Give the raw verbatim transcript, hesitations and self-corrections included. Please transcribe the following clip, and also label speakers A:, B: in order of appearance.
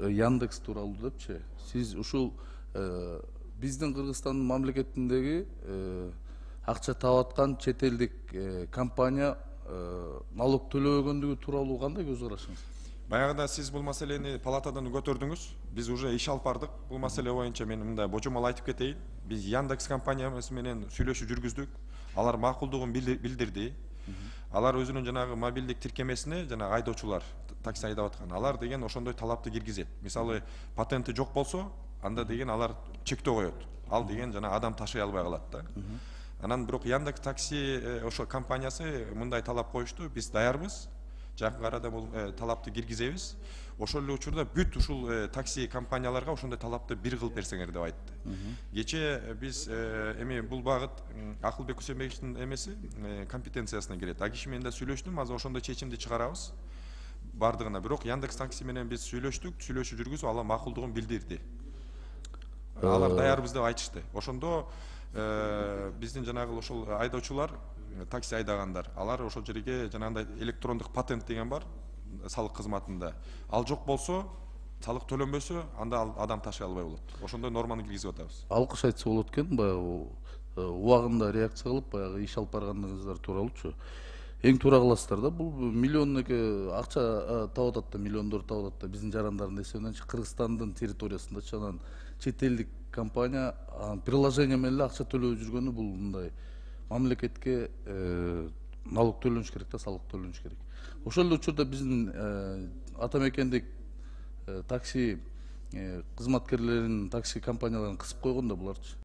A: Яндекс тууралуу депчи. Сиз ушул биздин Кыргызстандын мамлекетиндеги акча таап аткан чет элдик компания налог төлөбөгөндүгү тууралуу кандай көз карашыңыз?
B: Баягыда сиз бул маселени палатадан көтөрдүңүз. Биз уже иш алып бардык. Бул маселе боюнча мен мындай божомол айтып кетейин. Биз Яндекс компаниясы менен сүйлөшүү жүргүздүк. Алар макулдугун билдирди. Алар өзүнүн жанагы мобилдик тиркемесине жана айдоочулар, такси айдап аткан, алар деген ошондой талапты киргизет. Мисалы, патенти жок болсо, анда деген алар чектөө коет. Ал деген жана адам ташый албай калат да. Анан бирок Яндекс такси ошо компаниясы мындай талап коюшту. Биз даярбыз. Жакын арада бул талапты киргизебиз. Ошол эле учурда бүт ушул такси компанияларга ошондой талапты бир кылып берсеңер деп айтты. Кечээ биз эми бул багыт Акылбек Кусенбековичтин эмеси компетенциясына кирет. А киши менен да сүйлөштүм, азыр ошондой чечимди чыгарабыз. Бардыгына. Бирок Яндекс такси менен биз сүйлөштүк, сүйлөшүү жүргүзүп, алар макулдугун билдирди. Алар даярбыз деп айтышты. Ошондо биздин жанагы ошол айдоочулар, такси айдагандар, алар ошол жерге жанагындай электрондук патент деген бар салык кызматында. Ал жок болсо, салык төлөнбөсө, анда адам ташый албай болот. Ошондой норманы киргизип атабыз.
A: Алкыш айтса болот экен, баягы убагында реакция кылып, баягы иш алып барганыңыздар тууралуучу. Эң туура кыласыздар да, бул миллионнеке акча таап атат да, миллиондор таап атат да, биздин жарандардын эсебиненчи Кыргызстандын территориясындачы. Анан чет элдик компания приложение менен эле акча төлөп жүргөнү бул мындай мамлекетке налог төлөнүш керек да, салык төлөнүш керек. Ошол эле учурда биздин ата мекендик такси кызматкерлерин, такси компанияларын кысып койгон да буларчы.